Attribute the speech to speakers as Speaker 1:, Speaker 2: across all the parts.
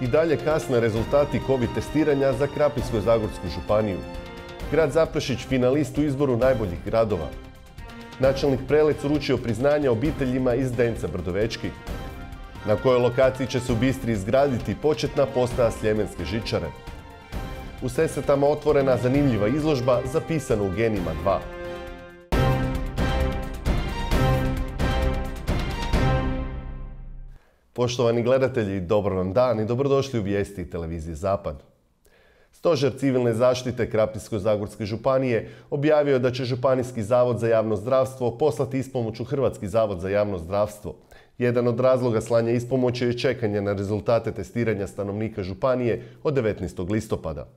Speaker 1: I dalje kasne rezultati COVID testiranja za Krapinsko-zagorsku županiju. Grad Zaprešić finalist u izboru najboljih gradova. Načelnik Prelec uručio priznanja obiteljima iz Zdenca Brdovečki. Na kojoj lokaciji će se u Bistri izgraditi početna postaja Sljemenske žičare. U Sesvetama otvorena zanimljiva izložba zapisana u genima 2. Poštovani gledatelji, dobar vam dan i dobrodošli u vijesti televizije Zapad. Stožer civilne zaštite Krapinsko-zagorske županije objavio je da će Županijski zavod za javno zdravstvo poslati ispomoć u Hrvatski zavod za javno zdravstvo. Jedan od razloga slanja ispomoći je čekanje na rezultate testiranja stanovnika županije od 19. listopada.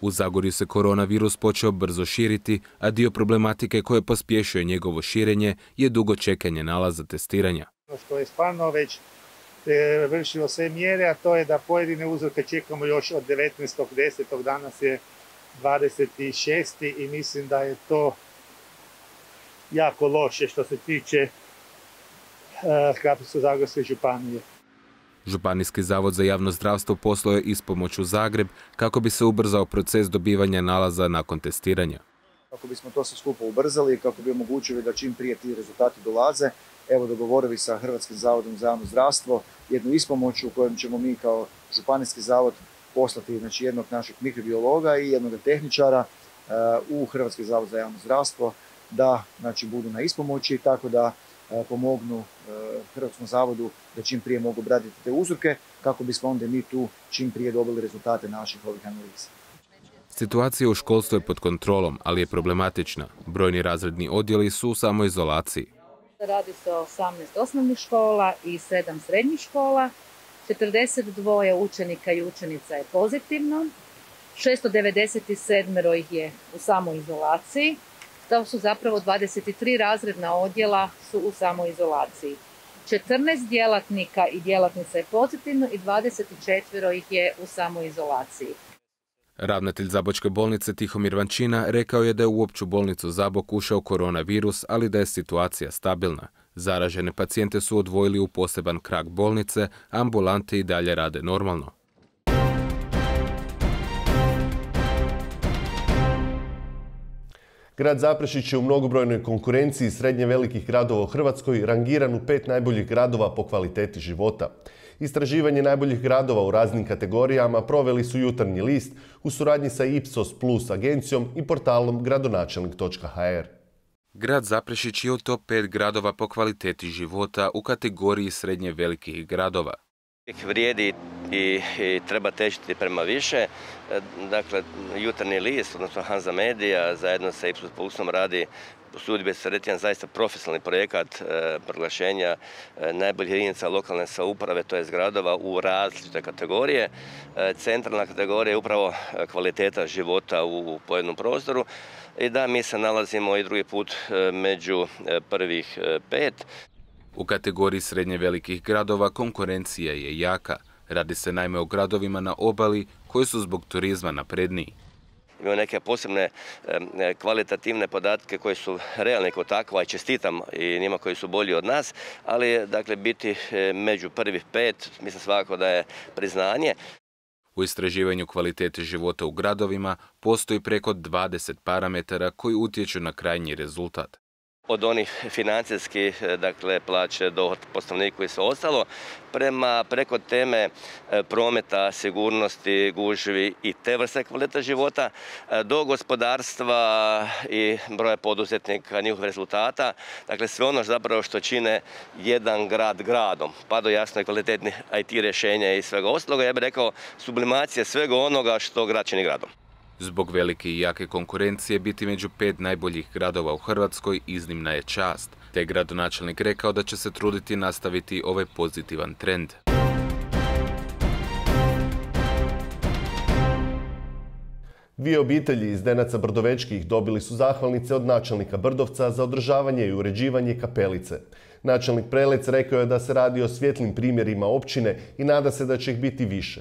Speaker 2: U Zagorju se koronavirus počeo brzo širiti, a dio problematike koje pospješuje njegovo širenje je dugo čekanje nalaza testiranja.
Speaker 3: Što je stvarno već vršilo sve mjere, a to je da pojedine uzorke čekamo još od 19.10. Danas je 26. i mislim da je to jako loše što se tiče Krapinsko-zagorske županije.
Speaker 2: Županijski zavod za javno zdravstvo poslao je ispomoć u Zagreb kako bi se ubrzao proces dobivanja nalaza nakon testiranja.
Speaker 4: Kako bismo to sve skupo ubrzali i kako bi omogućili da čim prije ti rezultati dolaze, evo dogovorili sa Hrvatskim zavodom za javno zdravstvo jednu ispomoć u kojem ćemo mi kao Županijski zavod poslati jednog našeg mikrobiologa i jednog tehničara u Hrvatski zavod za javno zdravstvo da budu na ispomoći, tako da pomognu Hrvatskom zavodu da čim prije mogu obraditi te uzorke kako bismo onda mi tu čim prije dobili rezultate naših ovih analiza.
Speaker 2: Situacija u školstvu je pod kontrolom, ali je problematična. Brojni razredni odjeli su u samoizolaciji.
Speaker 5: Radi se o 18 osnovnih škola i 7 srednjih škola. 42 učenika i učenica je pozitivno. 697 ih je u samoizolaciji. To su zapravo 23 razredna odjela su u samoizolaciji. 14 djelatnika i djelatnica je pozitivno i 24 ih je u samoizolaciji.
Speaker 2: Ravnatelj Zabočke bolnice Tihomir Vančina rekao je da je u opću bolnicu Zabok ušao koronavirus, ali da je situacija stabilna. Zaražene pacijente su odvojili u poseban krak bolnice, a ambulante i dalje rade normalno.
Speaker 1: Grad Zaprešić je u mnogobrojnoj konkurenciji srednje velikih gradova u Hrvatskoj rangiran u 5 najboljih gradova po kvaliteti života. Istraživanje najboljih gradova u raznim kategorijama proveli su Jutarnji list u suradnji sa Ipsos Plus agencijom i portalom gradonačelnik.hr.
Speaker 2: Grad Zaprešić je u top 5 gradova po kvaliteti života u kategoriji srednje velikih gradova.
Speaker 6: Vrijedi i treba težiti prema više. Dakle, Jutarnji list, odnosno Hanza Media, zajedno sa Ipsos Plusom radi usudit bi se reći jedan zaista profesionalni projekat proglašenja najboljih jedinica lokalne samouprave, to je gradova u različite kategorije. Centralna kategorija je upravo kvaliteta života u pojedinom prostoru i da mi se nalazimo i drugi put među prvih 5.
Speaker 2: U kategoriji srednje velikih gradova konkurencija je jaka. Radi se naime o gradovima na obali koji su zbog turizma napredniji.
Speaker 6: Imamo neke posebne kvalitativne podatke koji su realni kao takva i čestitam i njima koji su bolji od nas, ali dakle biti među prvih 5, mislim svakako da je priznanje.
Speaker 2: U istraživanju kvalitete života u gradovima postoji preko 20 parametara koji utječu na krajnji rezultat.
Speaker 6: Od onih financijskih, dakle plaće, dohodak po stanovniku i sve ostalo, preko teme prometa, sigurnosti, gužvi i te vrste kvalitete života, do gospodarstva i broja poduzetnika, njihovih rezultata, dakle sve ono zapravo što čine jedan grad gradom, pa do jasno i kvalitetnih IT rješenja i svega ostaloga, ja bih rekao sublimacija svega onoga što grad čini gradom.
Speaker 2: Zbog velike i jake konkurencije biti među 5 najboljih gradova u Hrvatskoj iznimna je čast, te je gradonačelnik rekao da će se truditi nastaviti ovaj pozitivan trend.
Speaker 1: Dvije obitelji iz Zdenaca Brdovečkih dobili su zahvalnice od načelnika Brdovca za održavanje i uređivanje kapelice. Načelnik Prelec rekao je da se radi o svjetlim primjerima općine i nada se da će ih biti više.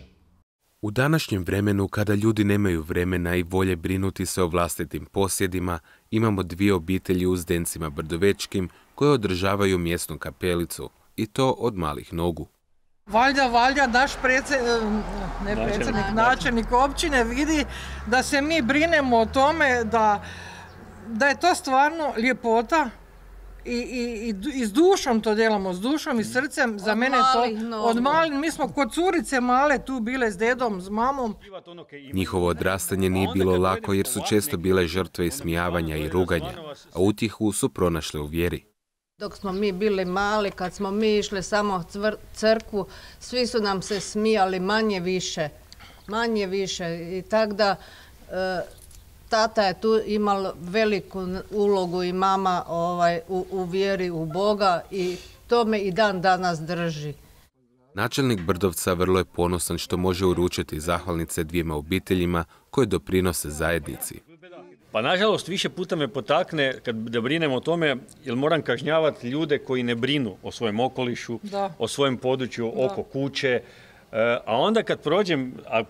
Speaker 2: U današnjem vremenu, kada ljudi nemaju vremena i volje brinuti se o vlastitim posjedima, imamo dvije obitelji u Zdencima Brdovečkim koje održavaju mjesnu kapelicu, i to od malih nogu.
Speaker 7: Valjda naš načelnik općine vidi da se mi brinemo o tome da je to stvarno ljepota i s dušom to djelamo, s dušom i srcem. Za mene to od malih, mi smo kod curice male tu bile s dedom, s mamom.
Speaker 2: Njihovo odrastanje nije bilo lako jer su često bile žrtve ismijavanja i ruganja, a utjehu su pronašle u vjeri.
Speaker 8: Dok smo mi bili mali, kad smo mi išli samo crkvu, svi su nam se smijali manje više. I tako da tata je tu imala veliku ulogu i mama u vjeri u Boga i to me i dan danas drži.
Speaker 2: Načelnik Brdovca vrlo je ponosan što može uručiti zahvalnice dvijema obiteljima koje doprinose zajednici.
Speaker 9: Pa nažalost više puta me potakne da brinem o tome jer moram kažnjavati ljude koji ne brinu o svojem okolišu, o svojem području, oko kuće. A onda kad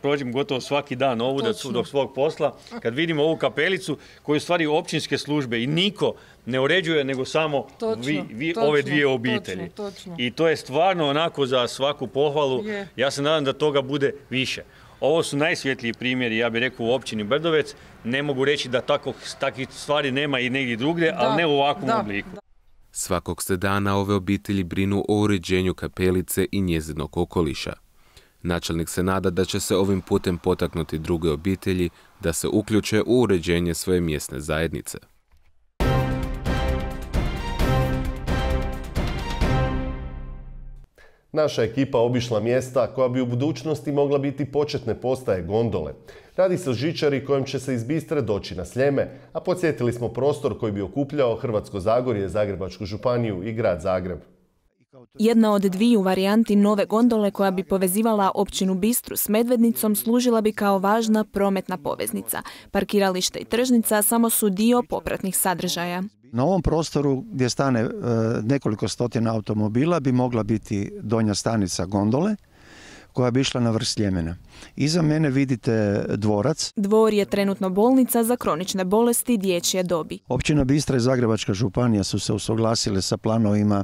Speaker 9: prođem gotovo svaki dan ovuda do svog posla, kad vidim ovu kapelicu koju stvari općinske službe i niko ne uređuje nego samo ove dvije obitelji. I to je stvarno onako za svaku pohvalu. Ja se nadam da toga bude više. Ovo su najsvjetliji primjeri, ja bih rekao, u općini Brdovec. Ne mogu reći da takvih stvari nema i negdje drugdje, ali ne u ovakvom obliku.
Speaker 2: Svakog se dana ove obitelji brinu o uređenju kapelice i njezinog okoliša. Načelnik se nada da će se ovim putem potaknuti druge obitelji da se uključe u uređenje svoje mjesne zajednice.
Speaker 1: Naša ekipa obišla mjesta koja bi u budućnosti mogla biti početne postaje gondole. Radi se o žičari kojom će se iz Bistre doći na Sljeme, a podsjetili smo prostor koji bi okupljao Hrvatsko Zagorje, Zagrebačku županiju i grad Zagreb.
Speaker 10: Jedna od dviju varijanti nove gondole koja bi povezivala općinu Bistru s Medvednicom služila bi kao važna prometna poveznica. Parkiralište i tržnica samo su dio popratnih sadržaja.
Speaker 11: Na ovom prostoru gdje stane nekoliko stotina automobila bi mogla biti donja stanica gondole koja bi išla na vrh Sljemena. Iza mene vidite dvorac.
Speaker 10: Dvor je trenutno bolnica za kronične bolesti i dječje dobi.
Speaker 11: Općina Bistra i Zagrebačka županija su se usuglasile sa planovima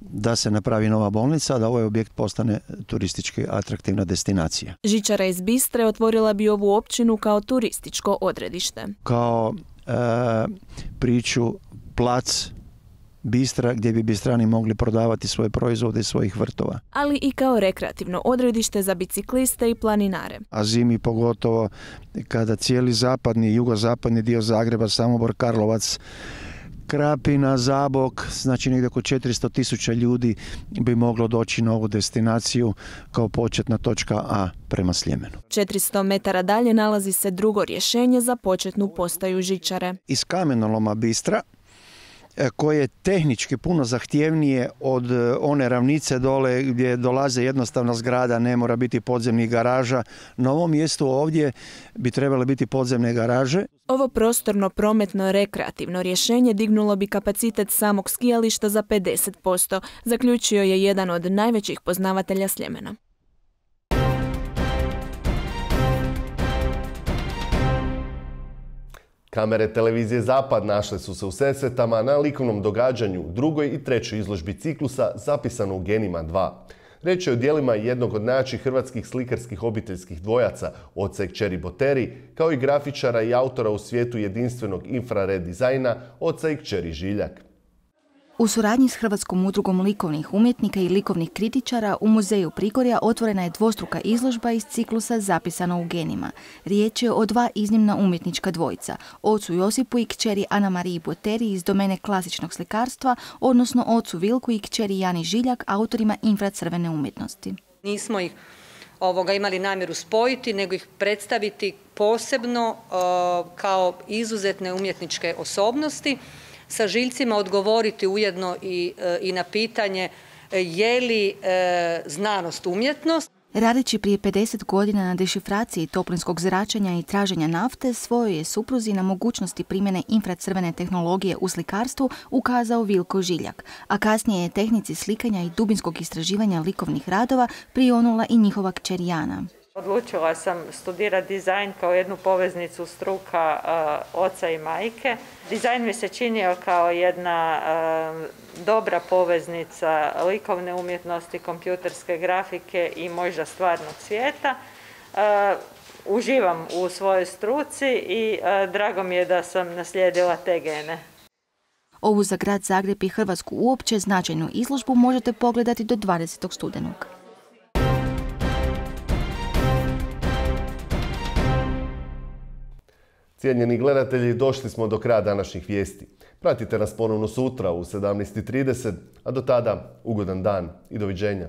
Speaker 11: da se napravi nova bolnica, da ovaj objekt postane turistički atraktivna destinacija.
Speaker 10: Žičara iz Bistre otvorila bi ovu općinu kao turističko odredište.
Speaker 11: Kao priču plac Bistra gdje bi Bistrani mogli prodavati svoje proizvode iz svojih vrtova.
Speaker 10: Ali i kao rekreativno odredište za bicikliste i planinare.
Speaker 11: A zimi pogotovo kada cijeli zapadni i jugozapadni dio Zagreba, Samobor, Karlovac, Krapina, Zabok, znači negdje oko 400.000 ljudi bi moglo doći na ovu destinaciju kao početna točka A prema Sljemenu.
Speaker 10: 400 metara dalje nalazi se drugo rješenje za početnu postaju žičare.
Speaker 11: Iz kamenoloma Bistra, koje je tehnički puno zahtjevnije od one ravnice dole gdje dolaze jednostavna zgrada, ne mora biti podzemnih garaža. Na ovom mjestu ovdje bi trebale biti podzemne garaže.
Speaker 10: Ovo prostorno prometno rekreativno rješenje dignulo bi kapacitet samog skijališta za 50%, zaključio je jedan od najvećih poznavatelja Sljemena.
Speaker 1: Kamere televizije Zapad našle su se u Sesvetama na likovnom događanju drugoj i trećoj izložbi ciklusa zapisano u Genima 2. Reč je o djelima jednog od najjačih hrvatskih slikarskih obiteljskih dvojaca, oca i kćeri Boteri, kao i grafičara i autora u svijetu jedinstvenog infrared dizajna, oca i kćeri Žiljak.
Speaker 12: U suradnji s Hrvatskom udrugom likovnih umjetnika i likovnih kritičara u Muzeju Prigorja otvorena je dvostruka izložba iz ciklusa Zapisano u genima. Riječ je o dva iznimna umjetnička dvojica, ocu Josipu i kćeri Ana Mariji Boteri iz domene klasičnog slikarstva, odnosno ocu Vilku i kćeri Jani Žiljak, autorima infracrvene umjetnosti.
Speaker 13: Nismo ih imali namjeru spojiti, nego ih predstaviti posebno kao izuzetne umjetničke osobnosti, sa Žiljcima odgovoriti ujedno i na pitanje je li znanost umjetnost.
Speaker 12: Radeći prije 50 godina na dešifraciji toplinskog zračenja i traženja nafte, svojoj je supruzi na mogućnosti primjene infracrvene tehnologije u slikarstvu ukazao Vilko Žiljak, a kasnije je tehnici slikanja i dubinskog istraživanja likovnih radova prionula i njihova kćer Jana.
Speaker 14: Odlučila sam studirati dizajn kao jednu poveznicu struka oca i majke. Dizajn mi se činio kao jedna dobra poveznica likovne umjetnosti, kompjuterske grafike i možda stvarnog svijeta. Uživam u svojoj struci i drago mi je da sam naslijedila te gene.
Speaker 12: Ovu za grad Zagreb i Hrvatsku uopće značajnu izložbu možete pogledati do 20. studenog.
Speaker 1: Cijenjeni gledatelji, došli smo do kraja današnjih vijesti. Pratite nas ponovno sutra u 17:30, a do tada ugodan dan i doviđenja.